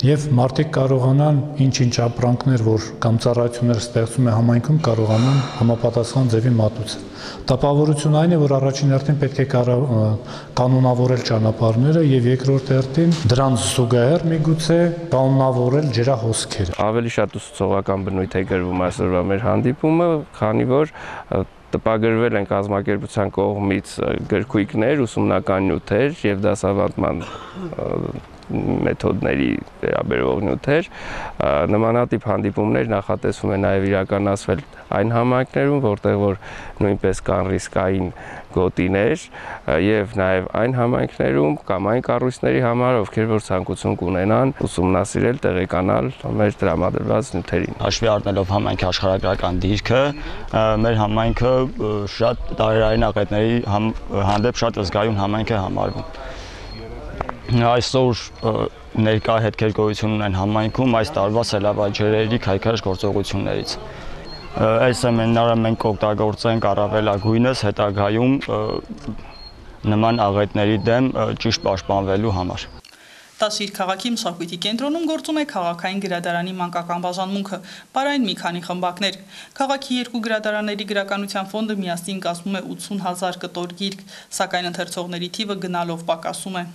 եւ մարդիկ կարողանան ինչ-ինչ ապրանքներ, որ կամ ծառայություններ ստեղծում է համայնքում, կարողանան համապատասխան ձևի մատուցել։ Տպավորությունը այն է, որ առաջին հերթին պետք է կանոնավորել ճանապարհները եւ երկրորդ հերթին դրանց զուգահեռ միգուցե կանոնավորել ջրահոսքերը։ Ավելի շատ ուսուցողական բնույթ է գրվում այսօրվա մեր հանդիպումը, քանի որ տպագրվել են կազմակերպության կողմից գրքույկներ, ուսումնական նյութեր եւ դասավանդման մեթոդների վերաբերող նյութեր, նմանատիպ հանդիպումներ նախատեսվում է նաև իրականացվել այն համայնքներում, որտեղ որ նույնպես կան ռիսկային գոտիներ եւ նաև այն համայնքներում կամ այն կառույցների համար, ովքեր որ ցանկություն կունենան ուսումնասիրել, տեղեկանալ մեր տրամադրված նյութերին։ Հաշվի առնելով համայնքի աշխարհագրական դիրքը, մեր համայնքը շատ տարերային աղետների հանդեպ շատ զգայուն համայնք է համարվում։ Այսօր ներկա հետքեր գոյություն ունեն համայնքում այս տարվա սելավաջրերի քայքայış գործողություններից։ Այս սեմինարը մենք օգտագործենք առավելագույնս հետագայում նման աղետների դեմ ճիշտ պաշտպանվելու համար։ Տաշիր քաղաքի մշակույթի կենտրոնում գործում է քաղաքային գրադարանի մանկական բաժանմունքը, պարային մի քանի խմբակներ։ Քաղաքի երկու գրադարանների գրականության ֆոնդը միասին կազմում է ութսուն հազար կտոր գիրք, սակայն ընթերցողների թիվը գնալով պակասում է։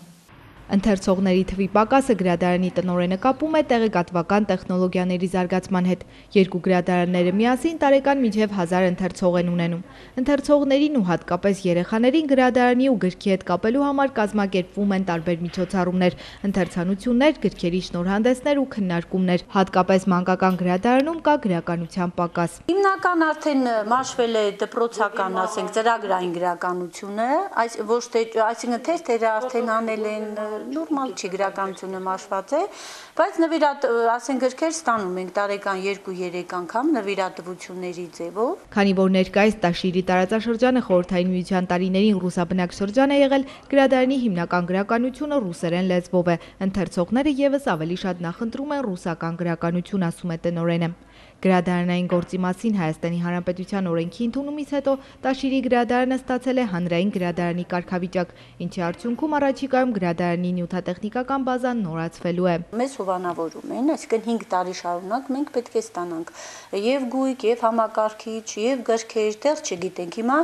Ընթերցողների թվի պակասը գրադարանի տնօրենը կապում է տեղեկատվական տեխնոլոգիաների զարգացման հետ։ Երկու գրադարանները միասին տարեկան մինչև հազար ընթերցող են ունենում։ Ընթերցողներին ու հատկապես երեխաներին գրադարանի ու գրքի հետ կապելու համար կազմակերպվում են տարբեր միջոցառումներ, ընթերցանություններ, գրքերի շնորհանդեսներ ու քննարկումներ։ Հատկապես մանկական գրադարանում կա գրականության պակաս։ Հիմնական արդեն մաշվել է դպրոցական, ասենք, ծրագրային գրականությունը, այս ոչ թե, այսինքն թերթերը արդեն անել են նորմալ չի գրականությունը մաշված է, բայց նվիրատ, ասենք, գրքեր ստանում ենք տարեկան երկու-երեք անգամ նվիրատվությունների ձևով։ Քանի որ ներկայիս Տաշիրի տարածաշրջանը խորհրդային միության տարիներին ռուսաբնակ շրջան է եղել, գրադարանի հիմնական գրականությունը ռուսերեն լեզվով է։ Ընթերցողները եւս ավելի շատ նախընտրում են ռուսական գրականություն, ասում է տնօրենը։ Գրադարանային գործի մասին Հայաստանի Հանրապետության օրենքի ընդունումից հետո Տաշիրի գրադարանը ստացել է հանրային գրադարանի կարգավիճակ, ինչի արդյունքում առաջիկայում գրադարանի նյութատեխնիկական բազան նորացվելու է։ Մեզ հովանավորում են, այսինքն հինգ տարի շարունակ մենք պետք է ստանանք եւ գույք, եւ համակարգիչ, եւ գրքեր, դեռ չգիտենք։ Հիմա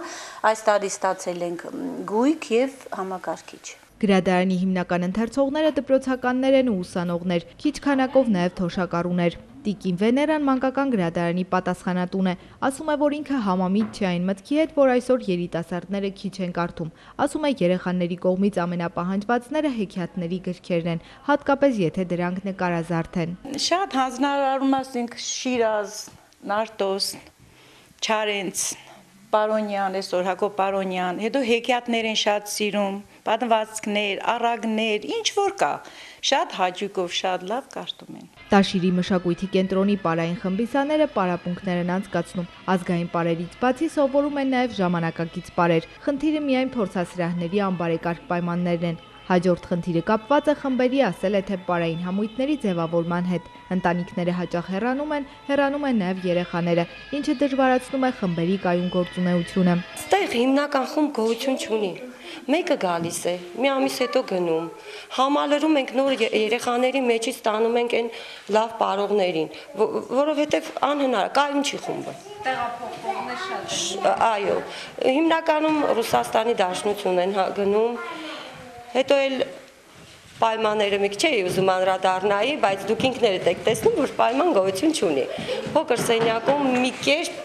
այս տարի ստացել ենք գույք եւ համակարգիչ։ Գրադարանի հիմնական ընթերցողները դպրոցականներ են ու ուսանողներ, քիչ քանակով նաև թոշակառուներ։ Տիկին Վեներան մանկական գրադարանի պատասխանատուն է, ասում է, որ ինքը համամիտ չի այն մտքի հետ, որ այսօր երիտասարդները քիչ են կարդում։ Ասում է, երեխաների կողմից ամենապահանջվածները հեքիաթների գրքերն են, հատկապես եթե դրանք նկարազարդ են։ Շատ հանձնարարում ասենք Շիրազ, Նարտոս, Չարենց, Պարոնյան, այսօր Հակոբ Պարոնյան, հետո հեքիաթներ են շատ սիրում, պատմվածքներ, առագներ, ինչ որ կա, շատ հաճույքով, շատ լավ կարդում են։ Տաշիրի մշակույթի կենտրոնի պարային խմբիսաները պարապմունքներ են անցկացնում։ Ազգային պարերից բացի սովորում են նաև ժամանակակից պարեր։ Խնդիրը միայն փորձասրահների անբարեկարգ պայմաններն են։ Հաջորդ խնդիրը կապված է խմբերի, ասել է, թե պարային համույթների ձևավորման հետ։ Ընտանիքները հաճախ հեռանում են, հեռանում են նաև երեխաները, ինչը դժվարացնում է խմբերի կայուն գործունեությունը։ Ստեղ հիմնական խումբ գոյություն չունի։ Մեկը գալիս է, մի ամիս հետո գնում։ Համալրում ենք նոր երեխաների մեջից ստանում ենք այն լավ պարողներին, որովհետև անհնար է, կայուն չի խումբը։ Տեղափոխվողներ շատ են։ Այո, հիմնականում Ռուսաստանի Դաշնություն են գնում, հետո էլ պայմանները մի քիչ էի ուզում անդրադառնայի, բայց դուք ինքներդ եք տեսնում, որ պայման գոյություն չունի։ Փոքր սենյակում մի կերպ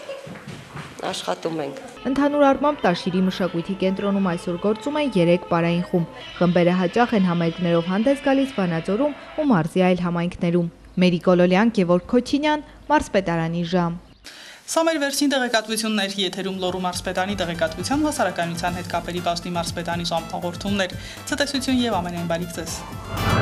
աշխատում ենք։ Ընդհանուր առմամբ Տաշիրի մշակույթի կենտրոնում այսօր գործում են երեք պարային խումբ։ Խմբերը հաճախ են համերգներով հանդես գալիս Վանաձորում ու մարզի այլ համայնքներում։ Մերի Կոլոլյան, Գևորգ Քոչինյան, Մարզպետարանի ժամ։ Սա մեր վերջին տեղեկատվությունն էր, եթերում Լոռու մարզպետանի տեղեկատվության հասարակայնության հետ կապերի բաժնի մարզպետանի ժամ հաղորդումներ։ Ցտեսություն եւ ամենայն բարիք ձեզ։